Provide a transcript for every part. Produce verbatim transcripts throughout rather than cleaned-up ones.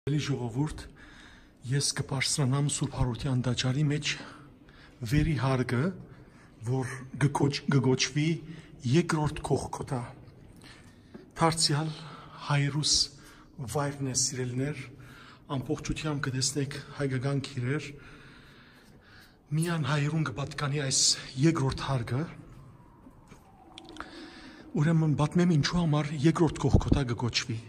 Սիրելի ժողովուրդ, ես կը բարձրանամ Սուրբ Յարութեան տաճարի մէջ վերի հարկը, որ կը կոչ-, կը կոչուի երկրորդ Կողքոթա։ Դարձեալ հայրուս վայրն է, սիրելիներ, ամբողջութեամբ կը տեսնեք հայկական գիրեր, միայն հայերուն կը պատկանի այս երկրորդ հարկը, ուրեմն պատմեմ ինչու համար երկրորդ Կողքոթա կը կոչուի։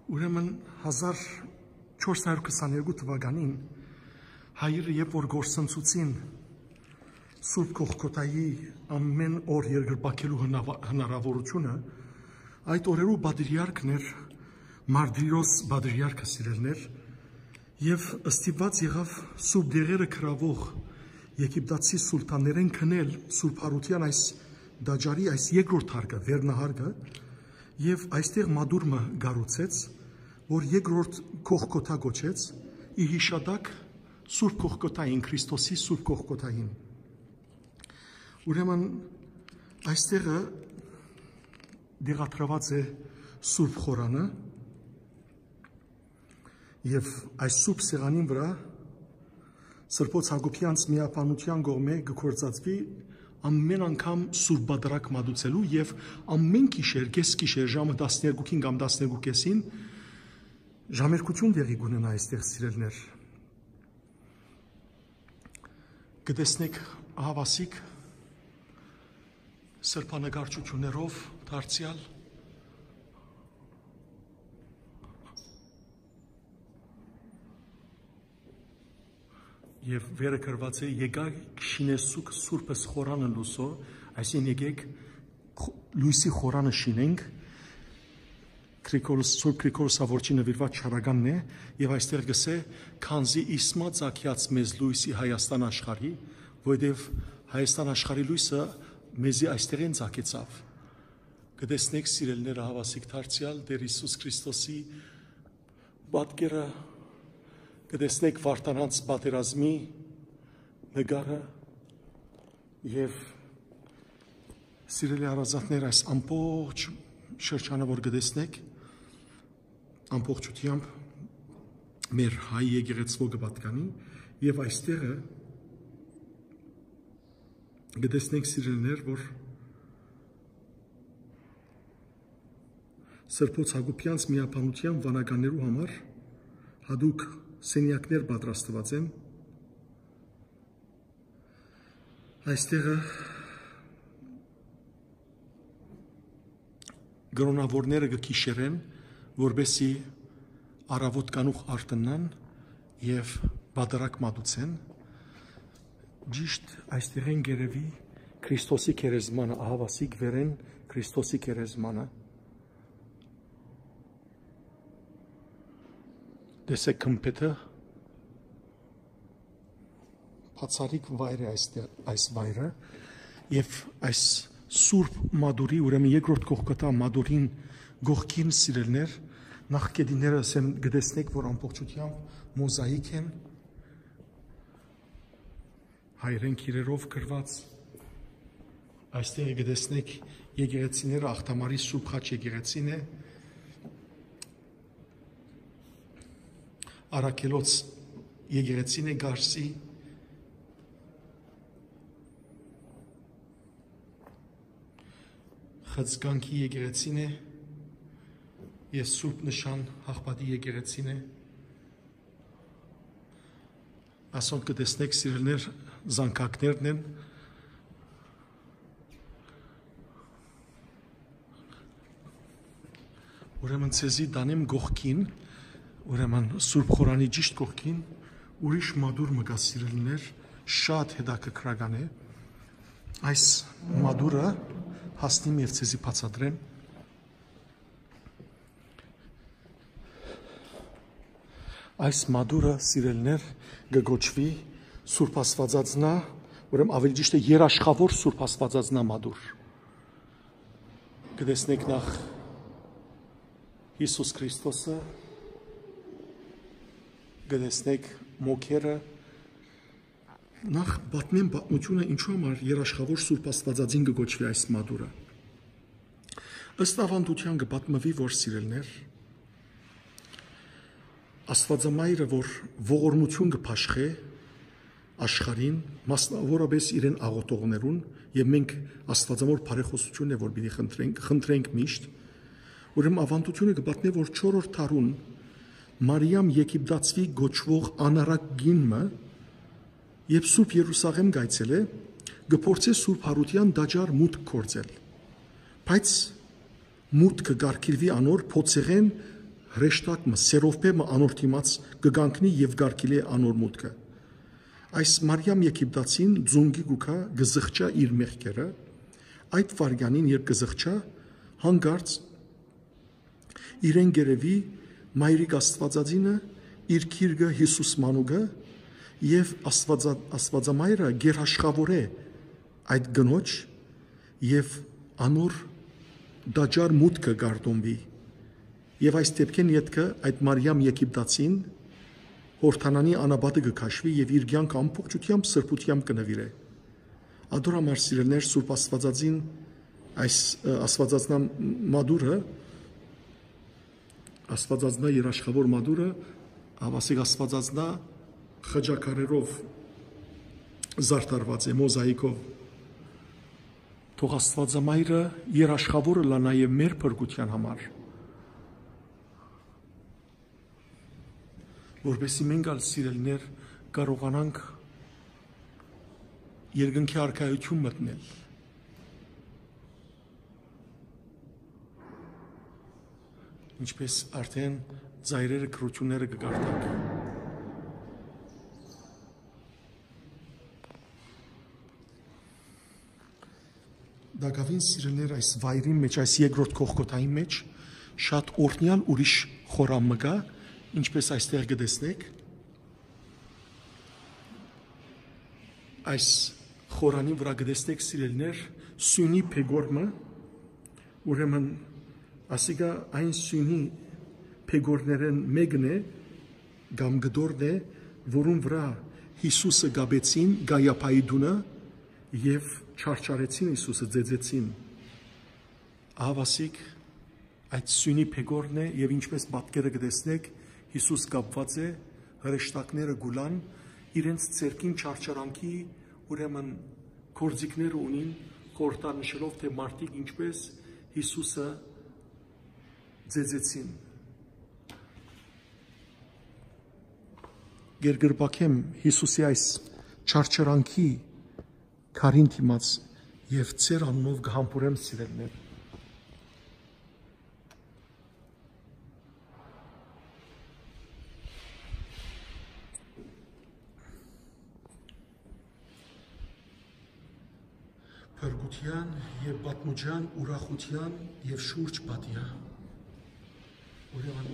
Ուրեմն հազար չորս հարյուր քսաներկու թուականին հայերը, երբ որ կորսնցուցին Սուրբ Կողքոթայի ամէն օր երկրպագելու հնավա-, հնարաւորութիւնը, այդ օրերու պատրիարքն էր, Մարտիրոս պատրիարքը, սիրելիներ, եւ ստիպուած եղաւ սուրբ դեղերը գրաւող եգիպտացի սուլթաններէն գնել Սուրբ Յարութեան այս տաճարի այս երկրորդ հարկը, վերնահարկը, եւ այստեղ մատուռ մը կառուցեց, որ երկրորդ Կողքոթա կոչեց, ի յիշատակ Սուրբ Կողքոթային, Քրիստոսի Սուրբ Կողքոթային։ Ուրեմն այստեղը դեղատրուած է Սուրբ Խորանը, եւ այս սուրբ սեղանին վրա Սրբոց Յակոբեանց միաբանութեան կողմէ կը գործածուի ամէն անգամ Սուրբ Պատարագ մատուցելու, եւ ամէն գիշեր, կէս գիշեր, ժամը տասներկուքին կամ տասներկու կէսին ժամերգութիւն տեղի կունենայ այստեղ, սիրելիներ։ Կը տեսնեք, ահաւասիկ սրբանկարչութիւններով դարձեալ, եւ վերը գրուած է. «Եկայք շինեսուք Սուրբս Խորանը լուսով», այսինքն՝ «Եկեք խ-, լոյսի խորանը շինենք», Գրիգորոս, Սուրբ Գրիգորոս Սաւորչի նուիրուած չարականն է, եւ այստեղ կ'ըսէ. «Քանզի իսկ մը ծագեաց մեզ լոյսի Հայաստան աշխարհի», որովհետեւ Հայաստան աշխարհի լոյսը մեզի այստեղէն ծագեցաւ։ Կը տեսնեք, սիրելիներ, ահաւասիկ դարձեալ Տէր Յիսուս Քրիստոսի պատկերը, կը տեսնեք Վարդանանց պատերազմի նկարը, եւ, սիրելի հարազատներ, այս ամբողջ շրջանը, որ կը տեսնեք, ամբողջութեամբ մեր հայ եկեղեցւոյ կը պատկանի, եւ այստեղը կը տեսնենք, սիրելիներ, որ Սրբոց Յակոբեանց միաբանութեան վանականներու համար յատուկ սենեակներ պատրաստուած են։ Այստեղը կրոնաւորները կը քիշերեն, որպեսզի առաւօտ կանուխ արթննան եւ պատարագ մատուցեն։ Ճիշտ այստեղէն կ'երեւի Քրիստոսի գերեզմանը, ահաւասիկ վերէն Քրիստոսի գերեզմանը։ Տեսեք գմբեթը, բացառիկ վայր է այստեղ, այս վայրը, եւ այս սուրբ մատուռի, ուրեմն երկրորդ Կողքոթա մատուռին կողքին, սիրելիներ, նախկետիները, ասեմ, կը տեսնեք, որ ամբողջութեամբ մոզաիկ են, հայերէն գիրերով գրուած։ Այստեղ կը տեսնեք եկեղեցիները, Աղթամարի Սուրբ Խաչ եկեղեցին է, Առաքելոց եկեղեցին է, Գարսի, Խցկանքի եկեղեցին է, եւ Սուրբ Նշան Աղբատի եկեղեցին է։ Ասոնք կը տեսնեք, սիրելիներ, զանգակներն են։ Ուրեմն ձեզի տանեմ կողքին, ուրեմն Սուրբ Խորանի ճիշտ կողքին ուրիշ մատուռ մը կայ, սիրելիներ, շատ հետաքրքրական է։ Այս մատուռը հասնիմ եւ ձեզի բացատրեմ։ Այս մատուռը, սիրելիներ, կը կոչուի Սուրբ Աստվածածնա, ուրեմն ավելի ճիշտ է երաշխաւոր Սուրբ Աստվածածնա մատուռ։ Կը տեսնեք նախ Յիսուս Քրիստոսը, կը տեսնեք մոքերը, նախ պատմեմ պատմութիւնը, ինչու համար երաշխաւոր Սուրբ Աստվածածին կը կոչուի այս մատուռը։ Ըստ աւանդութեան կը պատմուի, որ, սիրելիներ, Աստուածամայրը, որ ողորմութիւն կը բաշխէ աշխարհին, մասնաւորապէս իրեն աղօթողներուն, եւ մենք Աստուածամոր բարեխօսութիւնն է, որ պիտի խնդրենք, խնդրենք միշտ, ուրեմն աւանդութիւնը կը պատմէ, որ չորրորդ դարուն Մարիամ Եգիպտացի կոչուող անառակ կին մը, երբ Սուրբ Երուսաղէմ կայցելէ, կը փորձէ Սուրբ Յարութեան տաճար մուտք գործել։ Բայց մուտքը կարգիլուի անոր փոցեղէն հրեշտակ մը, սերովբէ մը անոր դիմաց կը կանգնի եւ կարգիլէ անոր մուտքը։ Այս Մարիամ Եգիպտացին ձունկի կու գայ, կը զղջայ իր մեղքերը։ Այդ վայրկեանին, երբ կը զղջայ, հանկարծ իրեն կ'երեւի Մայրիկ Աստուածածինը, իր գիրկը Յիսուս մանուկը, եւ Աստուածա-, Աստուածամայրը գերաշխաւորէ այդ կնոջ եւ անոր տաճար մուտքը կարտոնուի։ Եւ այս դեպքէն ետքը այդ Մարիամ Եգիպտացին Յորդանանի անապատը կը քաշուի եւ իր կեանքը ամբողջութեամբ սրբութեամբ կը նուիրէ։ Ատոր համար, սիրելիներ, Սուրբ Աստուածածին, այս, ը, Աստուածածնա մատուրը, Աստուածածնա երաշխաւոր մատուրը, ահա ասենք Աստուածածնա խճակարերով զարդարուած է, մոզաիկով։ Թող Աստուածամայրը երաշխաւոր ըլլայ նաեւ մեր փրկութեան համար, որպեսզի մենք ալ, սիրելիներ, կարողանանք երկնքի արքայութիւն մտնել, ինչպես արդեն ծայրերը, գրութիւնները կը կարդանք։ Տակաւին, սիրելիներ, այս վայրին մէջ, այս երկրորդ Կողքոթային մէջ շատ օրհնեալ ուրիշ խորան մը կայ, ինչպես այստեղ կը տեսնէք։ Այս խորանին վրայ կը տեսնէք, սիրելիներ, սիւնի փեգոր մը, ուրեմն ասիկա այն սիւնի փեգորներէն մէկն է, կամ կտորն է, որուն վրայ Յիսուսը կապեցին Կայափայի տունը եւ չարչարեցին Յիսուսը, ծեծեցին։ Ահա ասիկ այդ սիւնի փեգորն է, եւ ինչպես պատկերը կը տեսնէք, Յիսուս կապուած է, հրեշտակները կու լան, իրենց ձեռքին չարչարանքի, ուրեմն, գործիքները ունին, խորհրդանշելով, թէ մարդիկ ինչպես Յիսուսը ծեծեցին։ Կերկրպագեմ Յիսուսի այս չարչարանքի քարին դիմաց եւ ձեր անունով կը համբուրեմ, սիրելիներ։ Փրկութեան եւ պատմուճեան, ուրախութեան եւ շուրջ պատեայ։ Ուրեմն,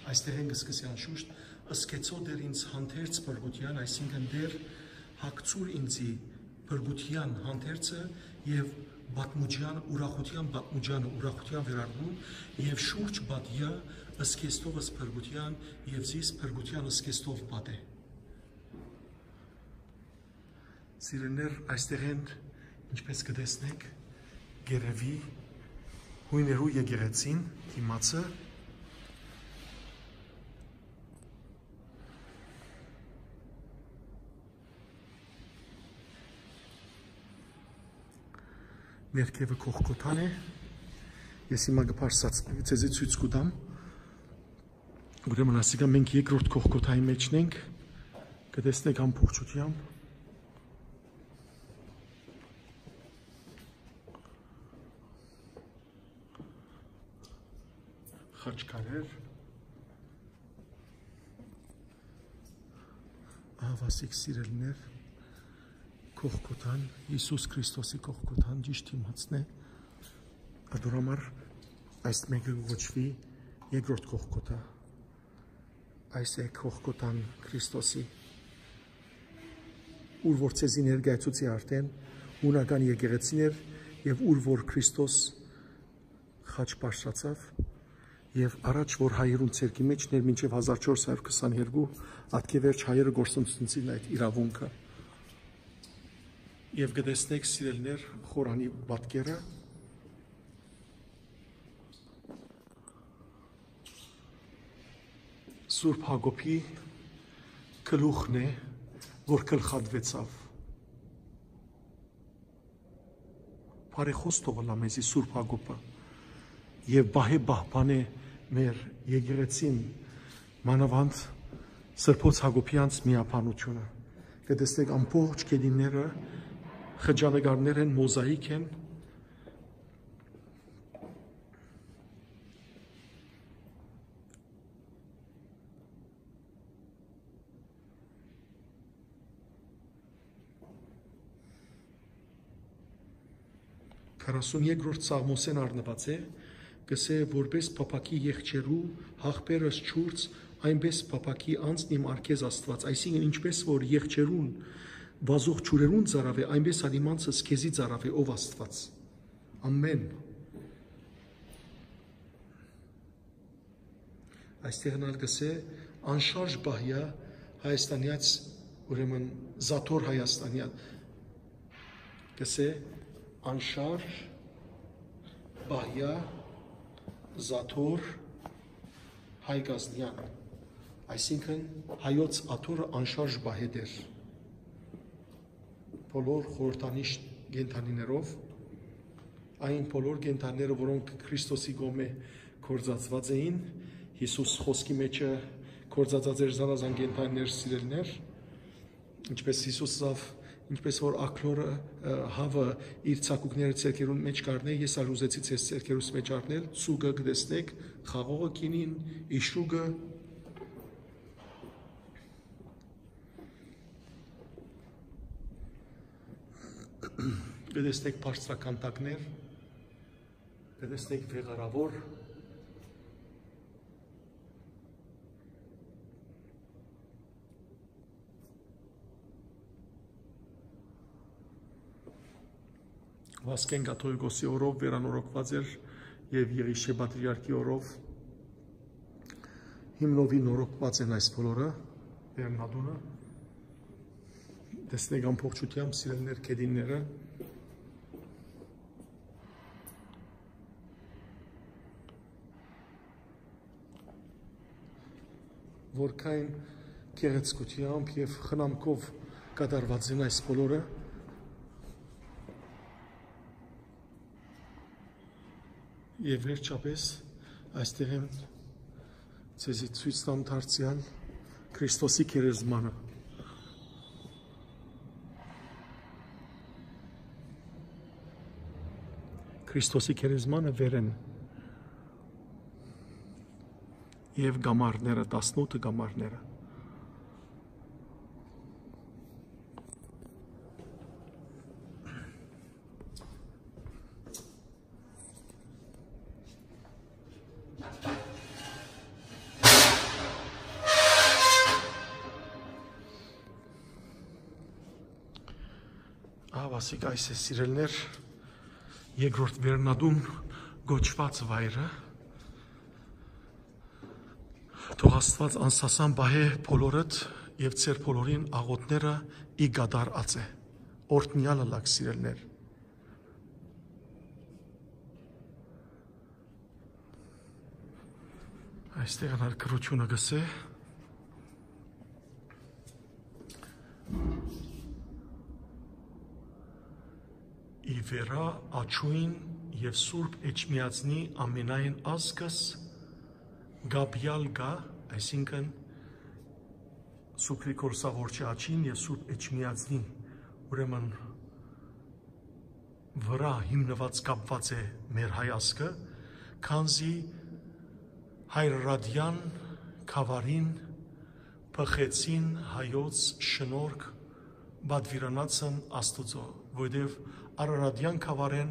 այստեղ են կը սկսի անշուշտ, «Ըսկեցո Տէր ինձ հանդերձ փրկութեան», այսինքն՝ «Տէր, հագցուր ինձի փրկութեան հանդերձը եւ պատմուճեան, ուրախութեան պատմուճեանը, ուրախութեան վերարկուն, եւ շուրջ պատեայ, ըսկեստովս փրկութեան, եւ զիս փրկութեան ըսկեստով պատէ»։ Սիրելիներ, այստեղ են, ինչպես կը տեսնէք, կ'երեւի Յոյներու եկեղեցին դիմացը։ Ներքևը Կողքոթան է։ Ես հիմա կը բարձրացնեմ, ձեզի ցոյց կու տամ։ Ուրեմն ասիկա մենք երկրորդ Կողքոթայի մէջն ենք, կը տեսնեք ամբողջութեամբ խաչքարեր, ահա ասիկ, սիրելիներ, Կողքոթան, Յիսուս Քրիստոսի Կողքոթան ճիշդ դիմացն է։ Ատոր համար այս մէկը կը կոչուի երկրորդ Կողքոթա։ Այս է Կողքոթան Քրիստոսի, ուր որ ձեզի ներկայացուցի արդեն, հունական եկեղեցին էր, եւ ուր որ Քրիստոս խաչ բարձրացաւ, եւ առաջ որ հայերուն ցերկի մէջն էր, մինչեւ հազար չորս հարյուր քսանեքերկու, ատկեվերջ հայերը կորսնցուցին այդ իրաւունքը։ Եւ կը տեսնեք, սիրելիներ, խորանի պատկերը։ Սուրբ Յակոբի գլուխն է, որ գլխատուեցաւ։ Բարեխօս թող ըլլայ մեզի Սուրբ Յակոբը եւ պահէ պահպանէ մեր եկեղեցին, մանաւանդ Սրբոց Յակոբեանց միաբանութիւնը։ Կը տեսնենք ամբողջ գետինները խճանկարներ են, մոզաիկ են։ Քառասունեքրորդ Սաղմոսէն առնուած է, կ'ըսէ. «Որպէս փափաքի եղջերու յախպերս ջուրց, այնպէս փափաքի անձն իմ առ քեզ, Աստուած»։ Այսինքն, ինչպէս որ եղջերուն վազող ջուրերուն ծարաւ է, այնպէս ալ իմ անձս քեզի ծարաւ է, ով Աստուած։ Ամէն։ Այստեղ ալ կ'ըսէ. «Անշարժ պահեա Հայաստանեաց, ուրեմն Զաթոր Հայաստանեան»։ Կ'ըսէ. «Անշարժ պահեա Զաթոր Հայ Կազնեան»։ Այսինքն, հայոց աթոռը անշարժ պահէ Տէր բոլոր խորհրդանիշ կենդանիներով, այն բոլոր կենդանիները, որոնք Քրիստոսի կողմէ գործածուած էին, Յիսուս խօսքի մէջը գործածած էր զանազան կենդանիներ, սիրելիներ, ինչպես Յիսուս ըսաւ, ինչպես որ ակլորը, ը, հաւը իր ցակուկները ձեռքերուն մէջ կ'առնէ, ես ալ ուզեցի ձեզ ձեռքերուս մէջ առնել, ծուկը կը տեսնէք, խաղողը, գինին, իշուկը, կը տեսնէք բարձրականդակներ, կը տեսնէք վեղարաւոր, Վասկեն կաթողիկոսի օրով վերանորոգուած էր եւ Եղիշէ պատրիարքի օրով հիմնովի նորոգուած են այս բոլորը, վերնատունը։ Տեսնեք ամբողջությամբ, սիրելիներ, գետինները, որքան գեղեցկությամբ եւ խնամքով կատարուած են այս բոլորը։ Եւ վերջապէս, այստեղ եմ ձեզի ցոյց տամ դարձեալ Քրիստոսի գերեզմանը։ Քրիստոսի գերեզմանը վեր են եւ կամարները, տասնութ կամարները։ Ահա, ասիկա այս է, սիրելիներ, երկրորդ վերնատուն կոչուած վայրը։ Թող Աստուած անսասան պահէ բոլորդ եւ ձեր բոլորին աղօթքները ի կատարած է։ Օրհնեալ ըլաք, սիրելիներ։ Այստեղ ալ գրութիւնը կ'ըսէ. «Ի վերայ աջոյն եւ Սուրբ Էջմիածնի ամենայն ազգս կապեալ կայ», այսինքն Սուրբ Գրիգոր Սաղ Յոյսի աջին եւ Սուրբ Էջմիածնի, ուրեմն, վրայ հիմնուած, կապուած է մեր հայ ազգը, քանզի հայրարատեան գաւառին բղխեցին հայոց շնորհք պատուիրանացն Աստուծոյ, որովհետեւ Արարատեան գաւառէն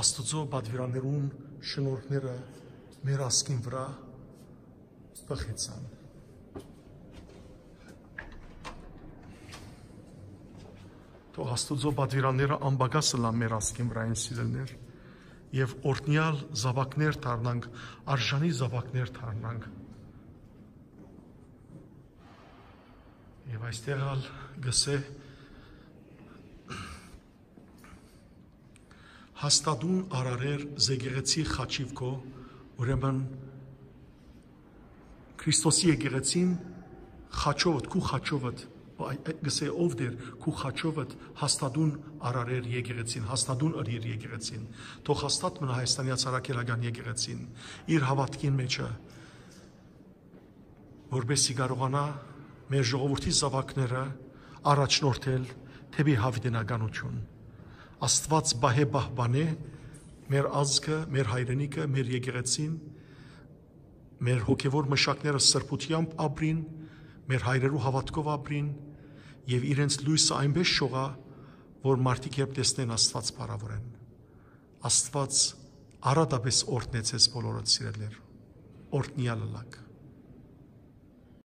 Աստուծոյ պատուիրաններուն շնորհքները մեր ազգին վրայ բղխեցան։ Թող Աստուծոյ պատուիրանները անպակաս ըլլան մեր ազգին վրայ, սիրելիներ, եւ օրհնեալ զաւակներ դառնանք, արժանի զաւակներ դառնանք։ Եւ այստեղ ալ կ'ըսէ. «Հաստատուն արարեր զեկեղեցի խաչիւ քո», ուրեմն Քրիստոսի եկեղեցին խաչովդ, քու խաչովդ, այ, այ, գսե ով դեր, քու խաչովդ հաստատուն արարեր եկեղեցին, հաստատուն ըրիր եկեղեցին։ Թող հաստատ մնա Հայաստանի Ացարակելական եկեղեցին, իր հաւատքին մեջը, որպեսզի կարողանա մեր ժողովրդի զաւակները առաջնորդել դէպի յաւիտենականություն։ Աստուած պահէ պահպանէ մեր ազգը, մեր հայրենիքը, մեր եկեղեցին, մեր հոգեվոր մշակները սրբութեամբ ապրին, մեր հայրերու հաւատքով ապրին եւ իրենց լոյսը այնպէս շողայ, որ մարդիկ երբ տեսնեն Աստուած փառաւորեն։ Աստուած առատապէս օրհնեցես բոլորը, սիրելիներ, օրհնեալ ըլաք։